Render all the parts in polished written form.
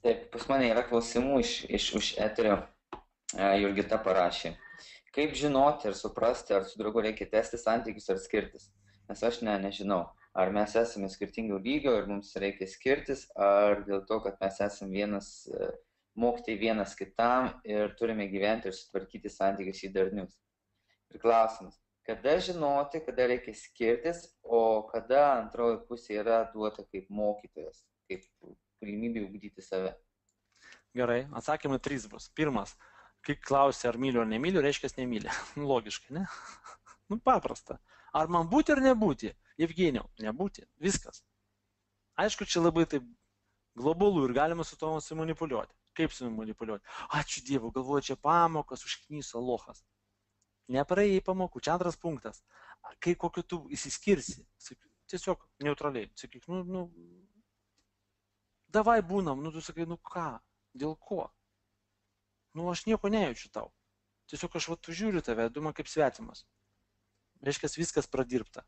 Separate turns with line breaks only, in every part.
Taip, pas mane yra klausimų už eterio. Jurgita parašė. Kaip žinoti ir suprasti, ar su draugu reikia tęsti santykius ar skirtis? Nes aš nežinau, ar mes esame skirtingų lygio ir mums reikia skirtis, ar dėl to, kad mes esame mokytai vienas kitam ir turime gyventi ir sutvarkyti santykius į darnius. Ir klausimas, kada žinoti, kada reikia skirtis, o kada antroji pusė yra duota kaip mokytojas, kaip galimybė ugdyti save.
Gerai, atsakymai 3 bus. Pirmas, kai klausi, ar myliu ar nemyliu, reiškia nemyli. Logiškai, ne? Nu, paprasta. Ar man būti ar nebūti? Evgenijau, nebūti. Viskas. Aišku, čia labai taip globalu ir galima su to manipuliuoti. Kaip su manipuliuoti? Ačiū Dievui, galvoju, čia pamokas užknyso lochas. Nepraėjai pamokų. Čia antras punktas. Kai kokiu tu įsiskirsi, tiesiog neutraliai. Sakyk, davai būnam, tu sakai, ką? Dėl ko? Aš nieko nejaučiu tau. Tiesiog aš žiūriu tave, du man kaip svetimas. Reiškia, viskas pradirbta.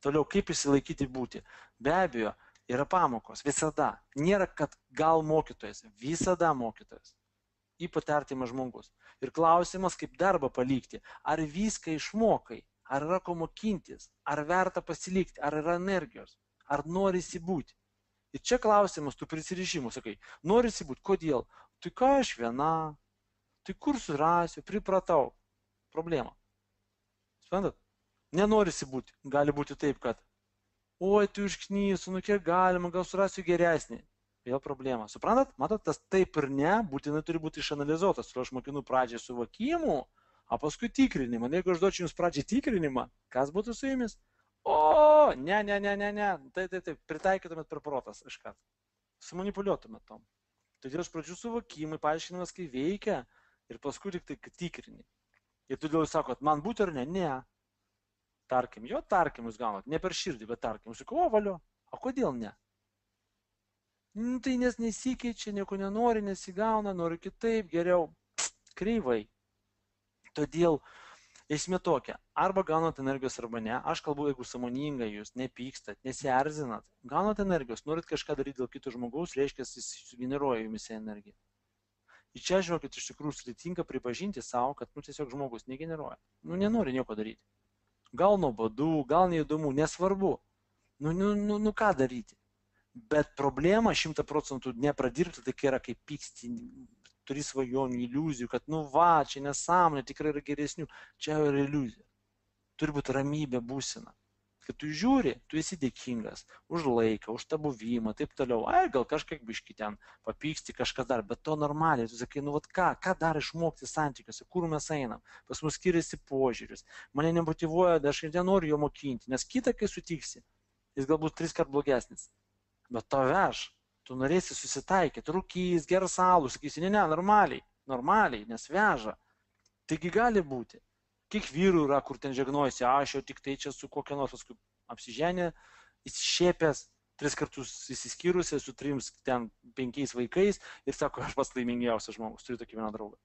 Toliau, kaip įsilaikyti būti? Be abejo, yra pamokos. Visada. Nėra, kad gal mokytojas. Visada mokytojas. Ypač artimas žmogus. Ir klausimas, kaip darbą palikti. Ar viską išmokai? Ar yra ko mokintis? Ar verta pasilikti? Ar yra energijos? Ar norisi būti? Ir čia klausimas, tu prisirišimų, sakai, norisi būti, kodėl? Tai ką aš viena, tai kur surasiu, pripratau. Problema. Suprantat? Nenorisi būti. Gali būti taip, kad, oi, tu išknysiu, kiek galima, gal surasiu geresnį. Vėl problema. Suprantat? Matot, tas taip ir ne, būtinai turi būti išanalizuotas. Aš mokinu pradžiai suvokimų, o paskui tikrinimą. Jeigu aš duočiau jums pradžiai tikrinimą, kas būtų su jumis? O, ne, taip, pritaikytumėt per protas kažką. Sumanipuliuotumėt tom. Todėl iš pradžių suvokimai, paaiškinimas, kai veikia ir paskui tik tai tikrini. Ir todėl jūs sakot, man būti ar ne? Ne. Tarkim, jūs gaunat, ne per širdį, bet tarkim. Jūs sakau, o valio, o kodėl ne? Tai nes nesikeičia, nieko nenori, nesigauna, nori kitaip, geriau, kreivai. Todėl esmė tokia, arba gaunat energijos arba ne, aš kalbu, jeigu sąmoningai jūs nepykstat, nesierzinat, gaunat energijos, norit kažką daryti dėl kito žmogaus, reiškia, jis sugeneruoja jumise energiją. Ir čia, žiūrėkit, iš tikrųjų sudėtinga pripažinti savo, kad tiesiog žmogus negeneruoja, nenori nieko daryti. Gal nuobodu, gal neįdomu, nesvarbu, ką daryti. Bet problema 100% nepradirbti, tai yra kaip pyksti, turi svajonių, iliuzijų, kad čia nesąmonė, tikrai yra geresnių, čia yra iliuzija. Turi būti ramybė būsena. Kad tu žiūri, tu esi dėkingas už laiką, už tą buvimą, taip toliau. Gal kažkiek biški ten papyksti, kažkas dar, bet to normaliai. Tu sakai, ką dar išmokti santykiuose, kur mes einam. Pas mus skiriasi požiūris. Mane nemotyvuoja, aš nenoriu jo mokinti, nes kitą, kai sutiksi, jis galbūt 3 kart blogesnis. Bet to veš. Tu norėsi susitaikyti, rūkys, geras alų, sakysi, ne, normaliai, nes veža. Taigi gali būti. Kiek vyrų yra, kur ten žegnojasi, aš jau tik tai čia su kokia nors paskui apsiženė, įsišėpęs, 3 kartus įsiskyrusi, su 5 vaikais ir sako, aš pats laimingiausias žmogus, turiu tokį vieną draugą.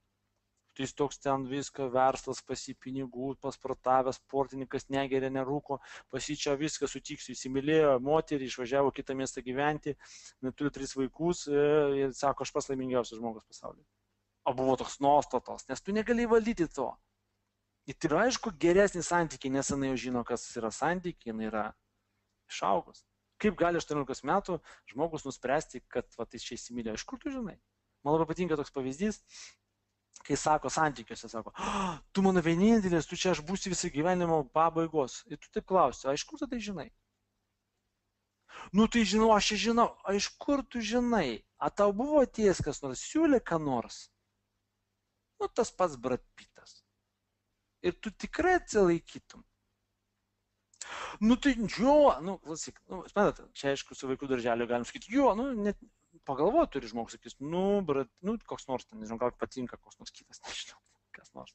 Tai jis toks ten viską, verslas, pasipinigų, pasportavęs, sportininkas, negeria, nerūko, pasičia viską, sutiksiu, įsimylėjo moterį, išvažiavo kitą miestą gyventi, turi 3 vaikus ir sako, aš pats laimingiausias žmogus pasaulyje. O buvo toks nuostatos, nes tu negali valdyti to. Ir tai yra aišku geresnis santykiai, nes jinai jau žino, kas yra santykiai, jinai yra išaugus. Kaip gali 18 metų žmogus nuspręsti, kad jis čia įsimylėjo? Iš kur tu žinai? Man labai patinka toks pavyzdys. Kai sako santykiuose, sako, tu mano vienintelis, tu čia aš būsiu visą gyvenimo pabaigos. Ir tu taip klausi, iš kur tu tai žinai? Tai žinau, aš čia žinau, iš kur tu žinai? A tau buvo atėjęs kas nors, siūlė ką nors? Tas pats Brad Pittas. Ir tu tikrai atsilaikytum. Klausyk, spėdat, čia aišku su vaikų darželiu galim sakyti, net pagalvoju, turi žmogus, sakys, koks nors, nežinau, gal patinka koks nors kitas, nežinau, kas nors.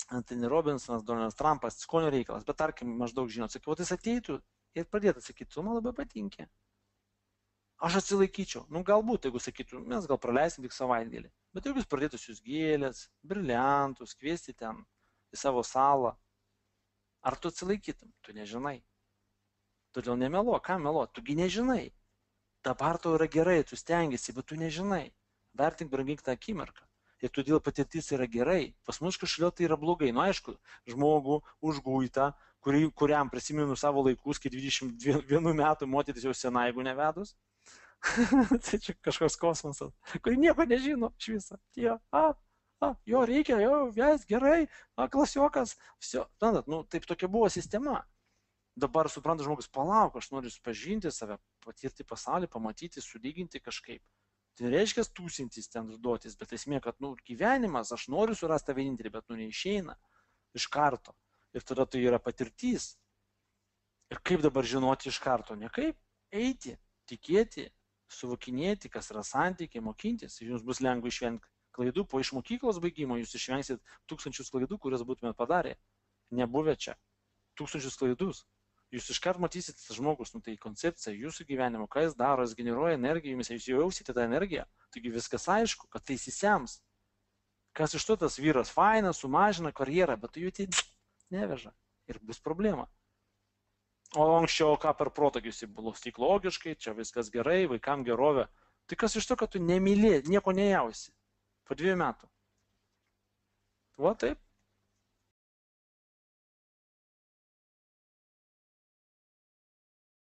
Anthony Robinsonas, Donaldas Trumpas, skonio reikalas, bet tarkim, maždaug žinot, sakiau, jis ateitų ir pradėtų sakyti, tu man labai patinka. Aš atsilaikyčiau, galbūt, jeigu sakytų, mes gal praleisim tik savaitgalį, bet jeigu jis pradėtų siūs gėlės, briliantus, kviesti ten į savo salą, ar tu atsilaikytum? Tu nežinai. Todėl nemeluok, ką meluok, tugi nežinai. dabar tau yra gerai, tu stengiasi, bet tu nežinai. Vertink, brangink tą akimirką. Ir todėl patirtis yra gerai. Pas mus kažkodėl tai yra blogai. Nu aišku, žmogų užguitą, kuriam prisimenu savo laikus, kai 21 metų moteris jau sena, jeigu nevedus. Tai čia kažkoks kosmosas, kuri nieko nežino iš viso. Jo reikia, ves gerai, klasiokas. Nu, taip tokia buvo sistema. Dabar supranta žmogus, palauk, aš noriu pažinti save, patirti pasaulį, pamatyti, sulyginti kažkaip. Tai reiškia tūsintis ten užduotis, bet esmė, kad gyvenimas, aš noriu surasti tą vienintelį, bet neišeina iš karto. Ir tada tai yra patirtis. Ir kaip dabar žinoti iš karto? Ne kaip eiti, tikėti, suvokinėti, kas yra santykiai, mokintis. Jums bus lengva išvengti klaidų. Po iš mokyklos baigimo jūs išvengsit 1000 klaidų, kurias būtumėt padarę. Nebuvę čia. 1000 klaidus. Jūs iškart matysit žmogus, tai koncepcija jūsų gyvenimo, ką jis daro, jis generuoja energiją, jūs jausite tą energiją, taigi viskas aišku, kad tai įsisems. Kas iš to tas vyras fainas, sumažina karjerą, bet tu jų tai neveža ir bus problema. O anksčiau ką per protą jūs buvo tik logiškai, čia viskas gerai, vaikam gerovė. Tai kas iš to, kad tu nemylė, nieko nejausi po 2 metų. Va taip.